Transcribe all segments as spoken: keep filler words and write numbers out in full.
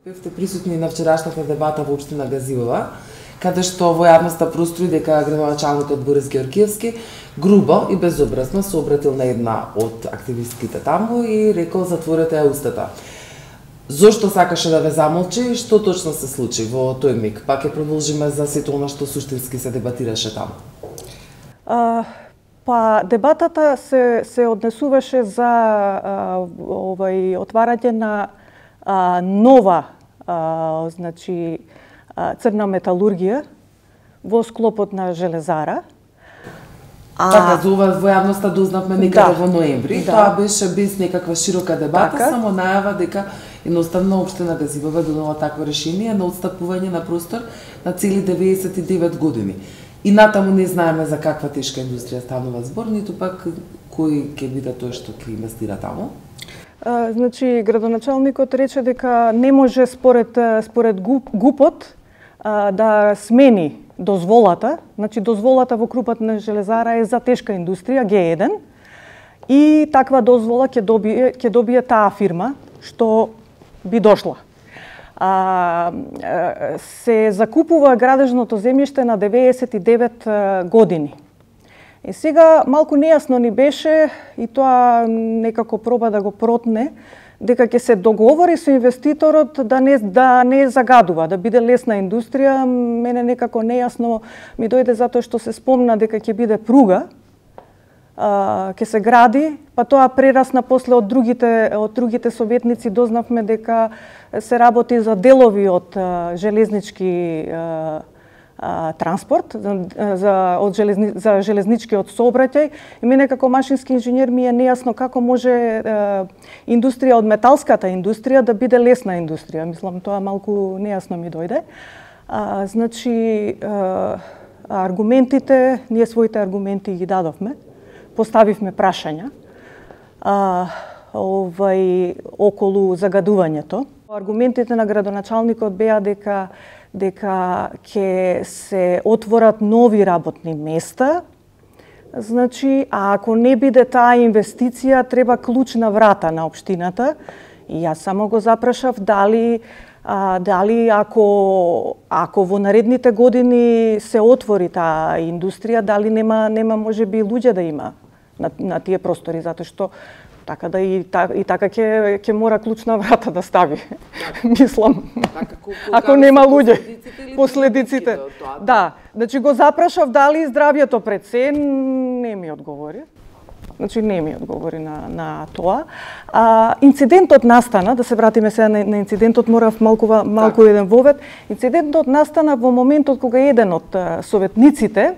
Бевте присутни на вчерашната дебата во општина Газилова, каде што во јавноста простори дека градоначалникот Борис Георгиевски грубо и безобразно се обратил на една од активистките таму и рекол затворете ја устата. Зошто сакаше да ве замолчи и што точно се случи во тој миг? Па ќе продолжиме за сето она што суштински се дебатираше таму. А, па дебатата се се однесуваше за а, овај отварање на а, нова а, значи а, црна металургија во склопот на железара. А... Така, за ова во јавноста дознавме некаде да, во ноември. Да. Тоа беше без некаква широка дебата, така, само најава дека едноставно општина Газилова донела такво решение на отстапување на простор на цели деветдесет и девет години. И натаму не знаеме за каква тешка индустрија станува збор, ниту пак кој ќе биде тој што ќе инвестира таму. А, значи, градоначалникот рече дека не може според според ГУПот а, да смени дозволата, значи дозволата во крупот на железара е за тешка индустрија Г еден и таква дозвола ќе добие ќе добие таа фирма што би дошла. А, се закупува градежното земјиште на деветдесет и девет години. И сега малку нејасно ни беше и тоа некако проба да го протне дека ќе се договори со инвеститорот да не да не загадува, да биде лесна индустрија. Мене некако нејасно ми дојде затоа што се спомна дека ќе биде пруга, а, ќе се гради, па тоа прерасна после од другите од другите советници дознавме дека се работи за делови од а, железнички а, а, транспорт, за, за од железни, за железничкиот сообраќај. И мене како машински инженер ми е нејасно како може а, индустрија од металската индустрија да биде лесна индустрија. Мислам, тоа малку нејасно ми дојде. А, значи, а, аргументите, ние своите аргументи ги дадовме, поставивме прашања а, овај, околу загадувањето. Аргументите на градоначалникот беа дека дека ќе се отворат нови работни места. Значи, а ако не биде таа инвестиција, треба клучна врата на општината. И јас само го запрашав дали а, дали ако ако во наредните години се отвори таа индустрија, дали нема нема можеби луѓе да има на, на тие простори, затоа што така да и, та, и така ќе ќе мора клучна врата да стави. Так. Мислам. Така, ако нема луѓе, последиците. последиците. Да, значи го запрашав дали здравјето пред се, не ми одговори. Значи не ми одговори на на тоа. А, инцидентот настана, да се вратиме сега на, на инцидентот, морав малку малку так. еден вовед. Инцидентот настана во моментот кога еден од советниците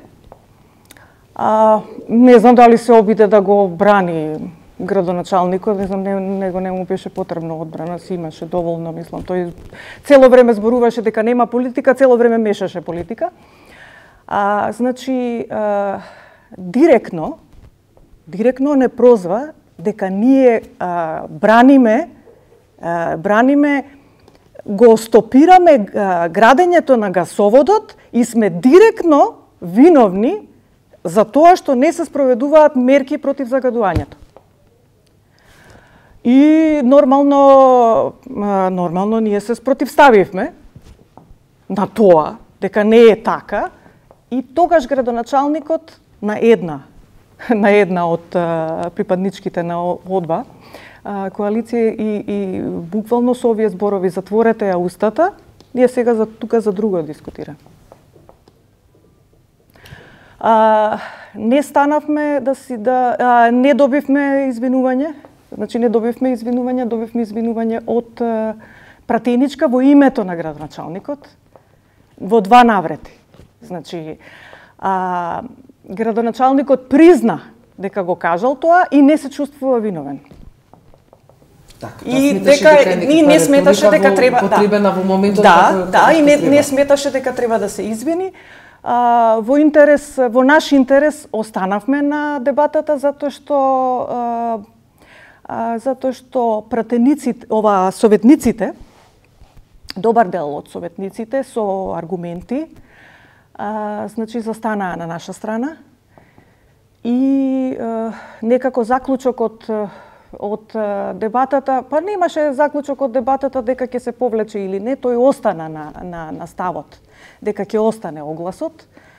а, не знам дали се обиде да го брани градоначалникот, не знам, не, него не му беше потребно одбрана, си имаше доволно, мислам, тој цело време зборуваше дека нема политика, цело време мешаше политика. А, значи, а, директно, директно не прозва дека ние а, браниме, а, браниме, го стопираме а, градењето на гасоводот и сме директно виновни за тоа што не се спроведуваат мерки против загадувањето. И нормално, нормално ние се спротивставивме на тоа, дека не е така, и тогаш градоначалникот на една, на една од припадничките на ОДБА, коалиција и, и буквално со овие зборови затворете ја устата, ние сега за тука за друго дискутираме. А, не станавме да си да а, не добивме извинување. Значи не добивме извинување, добивме извинување од е, пратеничка во името на градоначалникот во два наврети. Значи а, градоначалникот призна дека го кажал тоа и не се чувствува виновен. Так, и дека и не сметаше дека треба потребена во моментот да, да, и не, не сметаше дека треба да се извини. А, во интерес, во наш интерес останавме на дебатата затоа што а, а, затоа што пратениците, ова советниците, добар дел од советниците со аргументи, а, значи застанаа на наша страна и а, некако заклучокот од дебатата, па немаше заклучок од дебатата дека ќе се повлече или не, тој остана на, на, на ставот, дека ќе остане огласот. Uh,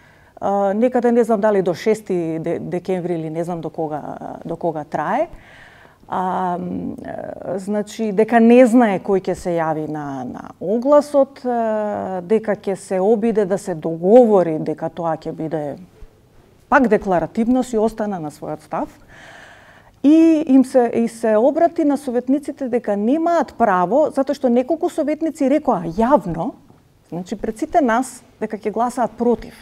некаде не знам дали до шести декември или не знам до кога, до кога трае. А, значи, дека не знае кој ќе се јави на, на огласот, дека ќе се обиде да се договори дека тоа ќе биде пак декларативно, си остана на својот став. И им се, и се обрати на советниците дека немаат право, затоа што неколку советници рекоа јавно, значи пред сите нас, дека ќе гласаат против.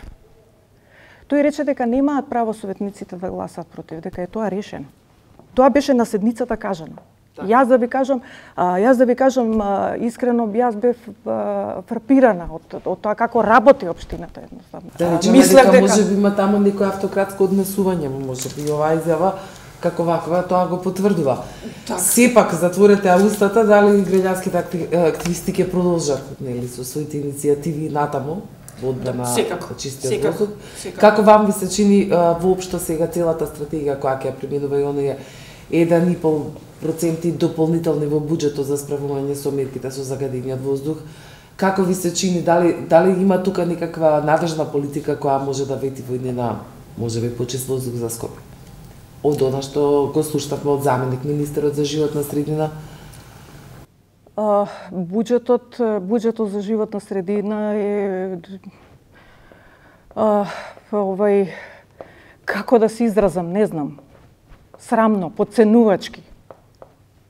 Тој рече дека немаат право советниците да гласаат против, дека е тоа решено. Тоа беше на седницата кажано. Так. Јас да ви кажам, а, јас да ви кажам а, искрено, јас бев а, фрапирана од, од тоа како работи општината едноставно. Да речеме дека, дека може би има таму некој автократско однесување, може би оваа изјава како ваква тоа го потврдува. Так. Сепак затворете устата дали граѓанските активисти ќе продолжат, нели, со своите иницијативи натаму во одбрана на чистиот воздух. Како вам ви се чини а, воопшто сега целата стратегија која ќе применува и оние еден и пол проценти дополнителни во буџетот за справување со мерките со загадениот воздух? Како ви се чини, дали дали има тука некаква надежна политика која може да вети во иднина, можеби почист воздух за Скопје? Од она што го слушнавме од заменик министерот за животна средина? Uh, буџетот, буџетот за животна средина е uh, овај, како да се изразам, не знам, срамно, подценувачки.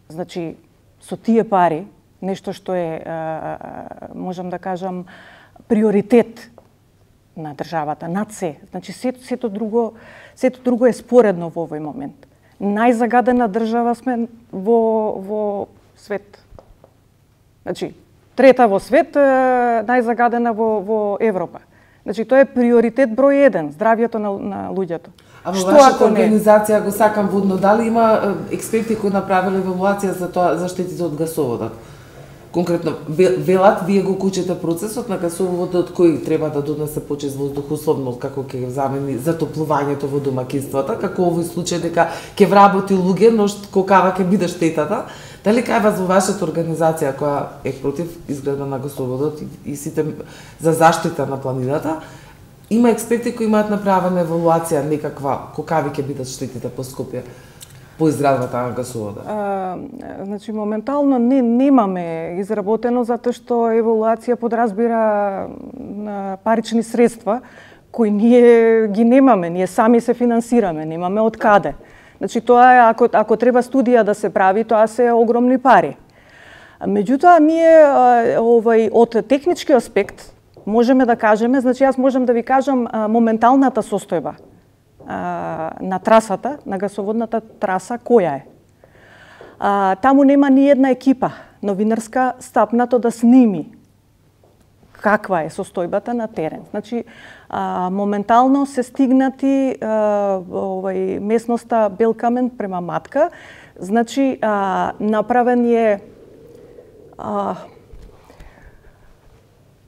Значи, со тие пари, нешто што е, uh, можам да кажам, приоритет на државата, над се. Значи, сето, сето, друго, сето друго е споредно во овој момент. Најзагадена држава сме во, во свет. Значи, трета во свет, најзагадена во, во Европа. Значи, тоа е приоритет број еден, здравјето на, на луѓето. А во вашата организација го сакам водно, дали има експерти кои направиле евалуација за тоа, за штетите од гасоводот? Конкретно, велат, вие го кучете процесот на гасоводот кој треба да донесе почист воздух, условно како ќе замени затоплувањето во домаќинствата, како овој случај дека ќе вработи луѓе, но какава ќе биде штетата. Дали кај вас во вашата организација која е против изградба на гасоводот и, и сите за заштита на планината, има експерти кои имаат направена евалуација некаква какави ќе бидат штетите по Скопје по изградбата на гасоводот? А, значи моментално не немаме изработено затоа што евалуација подразбира на парични средства кои ние ги немаме, ние сами се финансираме, немаме од каде. Значи тоа е, ако, ако треба студија да се прави, тоа се огромни пари. Меѓутоа, ние овај, од технички аспект можеме да кажеме, значи јас можам да ви кажам моменталната состојба на трасата, на гасоводната траса, која е. А, таму нема ни една екипа новинарска стапнато да сними каква е состојбата на терен. Значи, а, моментално се стигнати а, овај, местноста Белкамен према Матка. Значи, а, направен е а,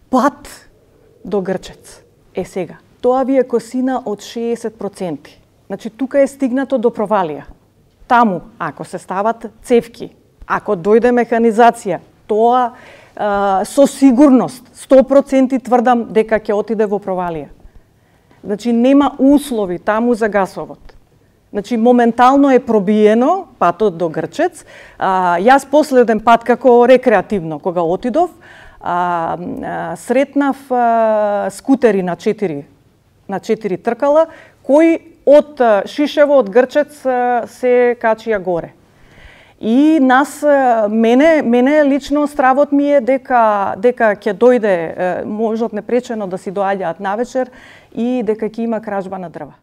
пат до Грчец. Е сега, тоа ви е косина од шеесет проценти. Значи, тука е стигнато до провалија. Таму, ако се стават цевки, ако дојде механизација, тоа а, со сигурност, сто проценти тврдам дека ќе отиде во провалија. Значи, нема услови таму за гасовод. Значи, моментално е пробиено патот до Грчец. А, јас последен пат, како рекреативно, кога отидов, а, а, сретнав а, скутери на четири, на четири тркала, кои од Шишево, од Грчец се качија горе. И нас, мене, мене лично стравот ми е дека, дека ќе дојде, можат непречено да си доаѓаат навечер и дека ќе има кражба на дрва.